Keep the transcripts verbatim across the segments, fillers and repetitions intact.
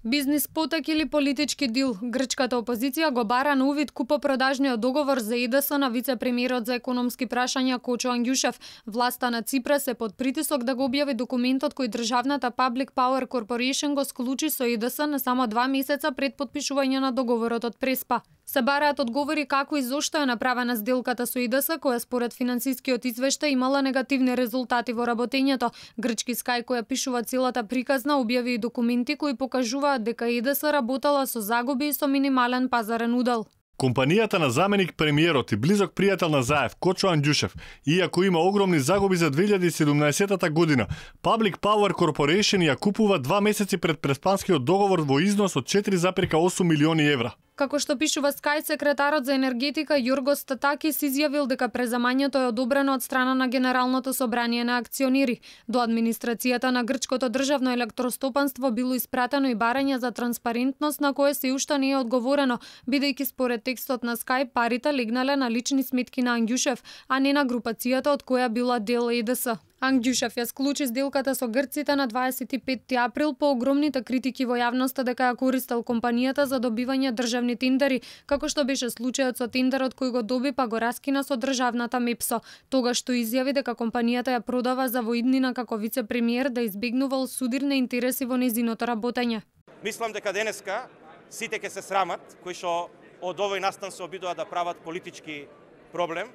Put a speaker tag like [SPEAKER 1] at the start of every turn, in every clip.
[SPEAKER 1] Бизнис потек или политички дил? Грчката опозиција го бара на увид купопродажниот договор за И Д С на вице-премиерот за економски прашања Кочо Ангјушев. Власта на Ципрас е под притисок да го објави документот кој државната Public Power Corporation го склучи со И Д С на само два месеца пред потпишување на договорот од Преспа. Се бараат одговори како и зошто е направена сделката со И Д С, која според финансискиот извештај имала негативни резултати во работењето. Грчки Скај, која пишува целата приказна, објави и документи кои покажуваат дека И Д С работела со загуби и со минимален пазарен удел.
[SPEAKER 2] Компанијата на заменик премиерот и близок пријател на Заев, Кочо Ангјушев, иако има огромни загуби за две илјади и седумнаесетта година, Public Power Corporation ја купува два месеци пред преспанскиот договор во износ од четири зарез и осум милиони евра.
[SPEAKER 1] Како што пишува Скај, секретарот за енергетика Јоргос Татакис изјавил дека преземањето е одобрено од страна на Генералното собрание на акционери. До администрацијата на грчкото државно електростопанство било испратено и барање за транспарентност на кое се уште не е одговорено, бидејќи според текстот на Скај парите легнале на лични сметки на Ангјушев, а не на групацијата од која била дел И Д С. Ангјушев ја склучи сделката со грците на дваесет и петти април по огромните критики во јавноста дека ја користел компанијата за добивање државни тендери, како што беше случајот со тендерот кој го доби па го раскина со државната Мепсо. Тогаш што изјави дека компанијата ја продава за воиднина како вице-премиер да избегнувал судирни интереси во незиното работење.
[SPEAKER 3] Мислам дека денеска сите ќе се срамат кои што од овој настан се обидуваат да прават политички проблем.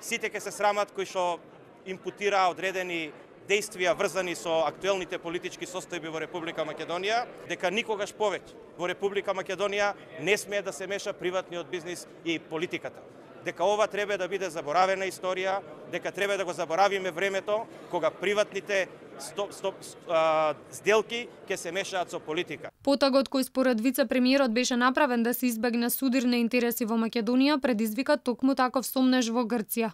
[SPEAKER 3] Сите ќе се срамат кои што импутира одредени действија врзани со актуелните политички состојби во Република Македонија, дека никогаш повеќе во Република Македонија не смее да се меша приватниот бизнис и политиката. Дека ова треба да биде заборавена историја, дека треба да го заборавиме времето кога приватните стоп, стоп, а, сделки ќе се мешаат со политика.
[SPEAKER 1] Потагот кој според вице-премиерот беше направен да се избегне судирни интереси во Македонија предизвика токму таков сомнеж во Грција.